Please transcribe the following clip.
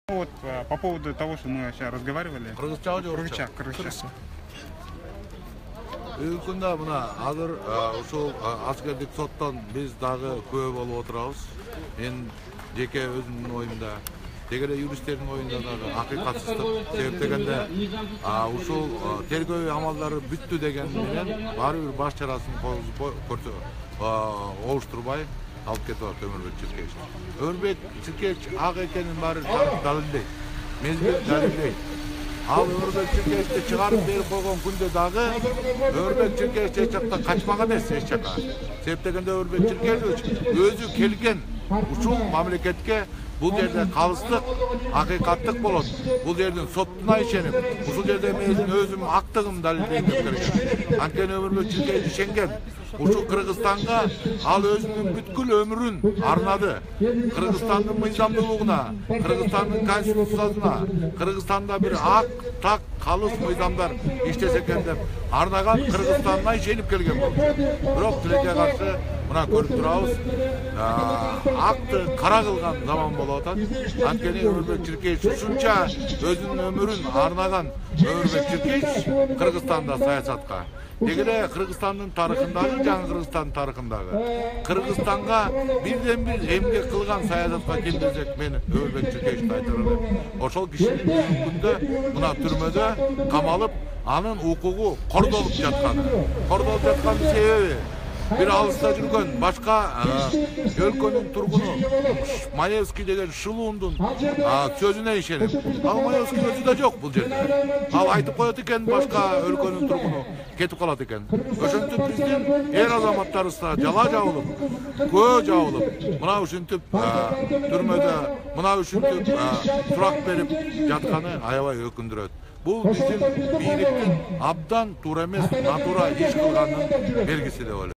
Вот по поводу того, что мы сейчас разговаривали. Кыргызча. Күндө мына азыр ушул аскердик соттон биз дагы күбө болуп отурабыз. Мен жеке өзүмдүн оюмда, деги эле юристтердин оюнда дагы акыйкатсыздык себептегенде ушул тергөө амалдары бүттү деген менен баары бир баш чарасын олуштурбай алып кетип атат Өмүрбек Чиркеевич. Өмүрбек Чиркеевич ак экенин баары далилдейт. Мезгил далилдейт. Ал Өмүрбек Чиркеевичти чыгарып берип койгон күндө дагы Өмүрбек Чиркеевич эч жактан качмаган эмес эч жака. Себептегенде Өмүрбек Чиркеевич өзү келген ушул мамлекетке бул жерде калыстык, акыйкаттык болот. Бул жердин соттуна ишенип, ушул жерде мен өзүм актыгым далилдейм деп келген. Анткени Өмүрбек Чиркеевич ишенген. Ушул Кыргызстанга ал өзүнүн бүткүл өмүрүн арнады. Кыргызстандын мыйзамдуулугуна, Кыргызстандын конституциясына, Кыргызстанда бир ак, так, калыс мыйзамдар иштесе экен деп арнаган Кыргызстанына ишенип келген болчу. Бирок тилекке каршы мына көрүп турабыз, акты кара кылган заман болуп атат. Анткени Өмүрбек Чиркеевич ушунча өзүнүн өмүрүн арнаган Өмүрбек Чиркеевич Кыргызстанда саясатка деги эле Кыргызстандын тарыхындагы, жаңы Кыргызстандын тарыхындагы Кыргызстанга бирден бир эмгек кылган саясатка ким десек мен Өмүрбек Чиркеевичти айтар элем. Ошол кишинин бүгүнкү күндө мына түрмөдө камалып, анын укугу кордолуп жаткан себеби бир алыста жүргөн башка өлкөнүн тургуну Маевский деген шылуундун сөзүнө ишенип, ал Маевский өзү да жок бул жерде. Ал айтып коет экен, башка өлкөнүн тургуну кетип калат экен. Ошентип биздин эр азаматтарыбыз да жала жабылып, көө жабылып, мына ушинтип түрмөдө, мына ушинтип сурак берип жатканы аябай өкүндүрөт. Бул биздин бийликтин абдан туура эмес, натура иш кылганын белгиси деп ойлойм.